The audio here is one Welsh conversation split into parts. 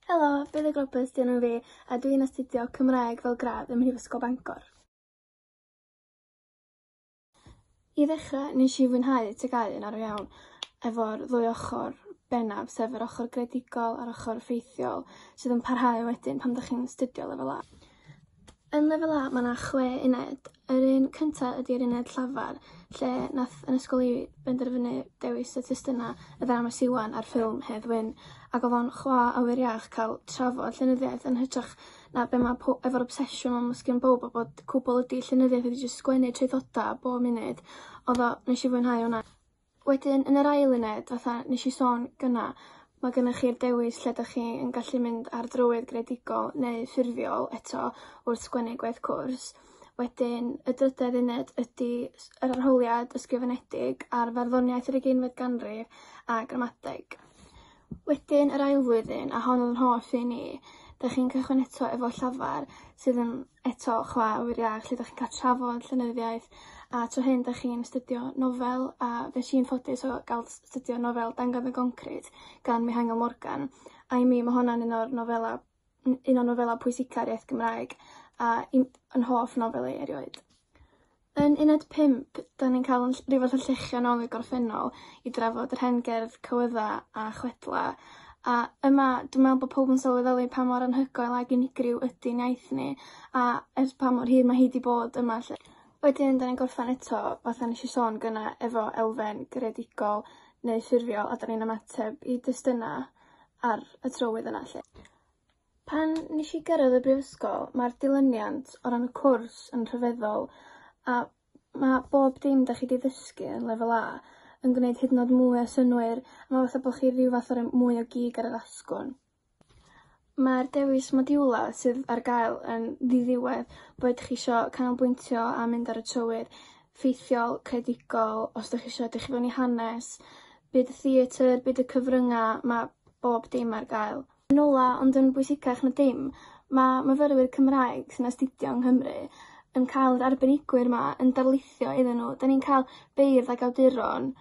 Helo, Buddug Roberts 'di enw fi, a dwi'n astudio Cymraeg fel gradd ym Mhrifysgol Bangor. I ddechrau, nes i fwynhau TGAU yn arw iawn, efo'r ddwy ochr bennaf, sef yr ochr greadigol a'r ochr ffeithiol, sydd yn parhau wedyn pan 'dach chi'n astudio lefel A. Yn lefel A ma' 'na chwe uned. Yr un cynta ydi'r uned llafar, lle nath 'yn ysgol i benderfynu dewis y testuna y ddrama Siwan a'r ffilm Hedd Wyn, ac o'dd o'n chwa awyr iach ca'l trafod llenyddiaeth yn hytrach na be' ma' po- efo'r obsesiwn 'ma ma' sgin bowb o bod cwbwl ydi llenyddiaeth ydi jyst sgwennu traethoda bob munud. O'dd o, nesh i fwynhau hwnna. Wedyn yn yr ail uned, fatha nesh i sôn gynna, ma' gynnoch chi'r dewis lle 'dach chi yn gallu mynd ar drywydd greadigol neu ffurfiol eto wrth sgwennu gwaith cwrs. Wedyn y drydedd uned ydi yr arholiad ysgrifenedig ar farddoniaeth yr ugeinfed ganrif a gramadeg. Wedyn yr ail flwyddyn, a hon o'dd 'yn hoff un i, 'dach chi'n cychwyn eto efo llafar sydd yn eto chwa awyr iach lle 'dach chi'n ca'l trafod llenyddiaeth a tro hyn 'dach chi'n astudio nofel a fuesh i'n ffodus o ga'l astudio nofel Dangodd y Goncrit gan Mihangel Morgan a i mi ma' honna'n un o'r nofela un o nofela pwysica'r iaith Gymraeg a un 'yn hoff nofel i erioed. Yn uned pump, 'dan ni'n ca'l 'yn rhyw fath o lluchio nôl i'r gorffennol i drafod yr hen gerdd cywydda' a chwedla, a yma dwi me'wl bo' powb yn sylweddoli pa mor anhygoel ag unigryw ydi'n iaith ni, a ers pa mor hir ma' hi 'di bod yma 'lly. Wedyn 'dan ni'n gorffan eto, fatha nesh i sôn gynna, efo elfen greadigol neu ffurfiol, a 'dan ni'n ymateb i destyna ar y trywydd yna 'lly. Pan nesh i gyrraedd y brifysgol, ma'r dilyniant o ran y cwrs yn rhyfeddol, a ma' bob dim 'dach chi 'di ddysgu yn lefel A yn gwneud hyd yn o'd mwy o synnwyr, a ma' fatha bo' chi ryw fath o roi mwy o gig ar yr asgwrn. Ma'r dewis modiwla sydd ar gael yn ddiddiwedd, boed chi isio canolbwyntio a mynd ar y trywydd ffeithiol, creadigol, os 'dach chi isio edrych i fewn i hanes, byd y theatr, byd y cyfrynga', ma' bob dim ar gael. Yn ola, ond yn bwysicach na dim, ma' myfyrwyr Cymraeg sy'n astudio yng Nghymru yn cael yr arbenigwyr 'ma yn darlithio iddyn nhw. 'Dan ni'n cael beirdd ag awduron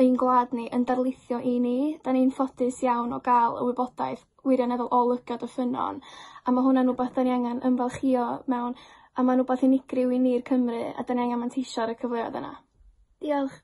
ein gwlad ni yn darlithio i ni. 'Dan ni'n ffodus iawn o gael y wybodaeth wirioneddol o lygad y ffynnon, a ma' hwnna'n wbath 'dan ni angen ymfalchïo mewn, a ma'n wbath unigryw i ni'r Cymry, a 'dan ni angen manteisio ar y cyfleoedd yna. Diolch.